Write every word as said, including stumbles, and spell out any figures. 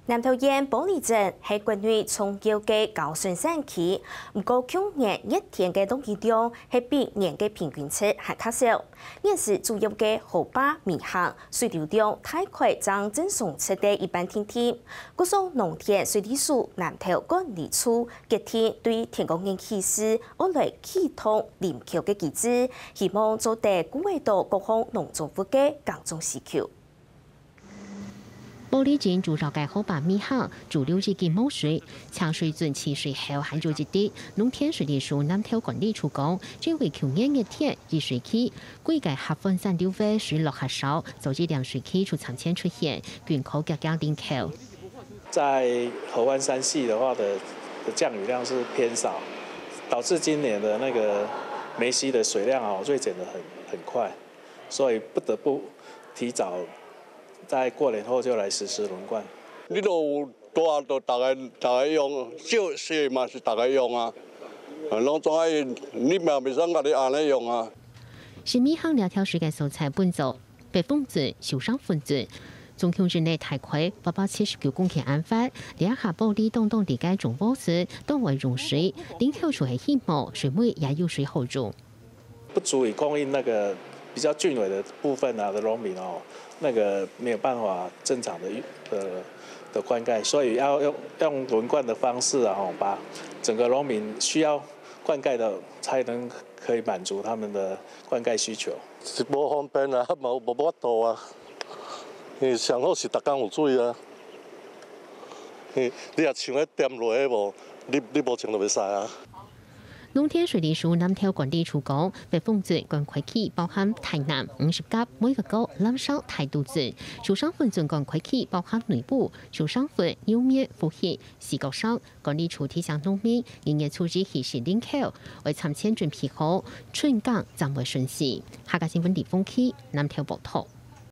南投縣埔里鎮係國內重要个高山山區，毋過舊年熱天个落雨量係比年个平均值還較少。現時主要个河壩未限，水流量大概正正常值个一半定定。故所農田水利署南投管理處決定對天光日起始，愛來啟動臨橋个機制，希望做得顧得到各項農作物个耕種需求。 埔里鎮主要个河壩未限，主流已經無水，淨水圳取水口還有一滴。農田水利署南投管理處講，因為舊年熱天雨水期，歸个合歡山流域水落較少，所以連水期就漸漸出現，僅可遽遽臨橋。在河灣山系的話的，的降雨量是偏少，導致今年的那個梅溪的水量哦，銳減得很，很快。 所以不得不提早在過年後就來實施輪灌。你都有大就大家，大家用，少細嘛是大家用啊。啊，攏總愛，你嘛袂使家己按呢用啊。新美鄉這條水个所在分做北峰圳、秀山分圳，總共圳內大概八百七十九公頃恁闊，這下埔里東東地个種屋子，當會用水，臨橋就係希望水尾也有水好用。 不足以供應那個比較浚尾的部分啊的農民哦，那個沒有辦法正常的，呃，的灌溉，所以要用，用輪灌的方式啊，吼，把整個農民需要灌溉的才能可以滿足他們的灌溉需求。是無方便啊，無，無法度啊。你上好是逐工有水啊。你，你若像彼點落去無，你，你無像就袂使啊。 農田水利署南投管理處講，北峰圳灌溉區包含大湳、五十甲、尾仔溝、南沙、大肚圳；秀山分圳灌溉區包含內埔、秀山分、牛面、福興、四角山。管理處提醒農民，二月初一起先臨橋，愛提前準備好，春耕正會順序。客家新聞李峰溪南投報導。